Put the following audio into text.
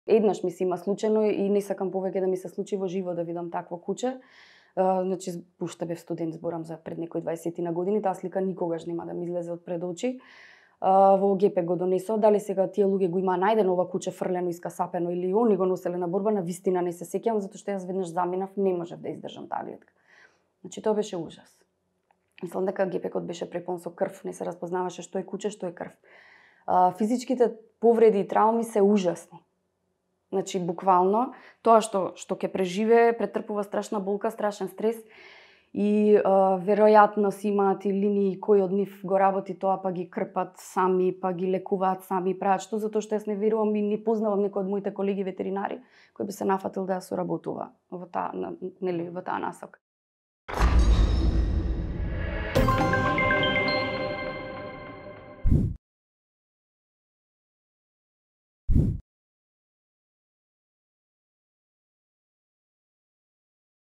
Еднаш ми се има случајно и не сакам повеќе да ми се случи во живот да видам такво куче. Значи, уште бев студент, зборам за пред некои 20 на години, таа слика никогаш нема да ми излезе од пред очи. Во ГП го донесо, дали сега тие луѓе го имаа најдено ова куче фрлено, искасапено или они го носеле на борба, на вистина не се сеќавам, затоа што јас веднаш заминав, не можев да издржам таа гледка. Значи, тоа беше ужас. Мислам дека ГП-кот беше препон со крв, не се разпознаваше што е куче, што е крв. Физичките повреди и трауми се ужасни. Значи, буквално, тоа што ќе преживее, претрпува страшна болка, страшен стрес и веројатно си имаат и линии кој од нив го работи тоа, па ги крпат сами, па ги лекуваат сами, прават што, затоа што јас не верувам и не познавам некој од моите колеги ветеринари кој би се нафатил да ја соработува во таа насока.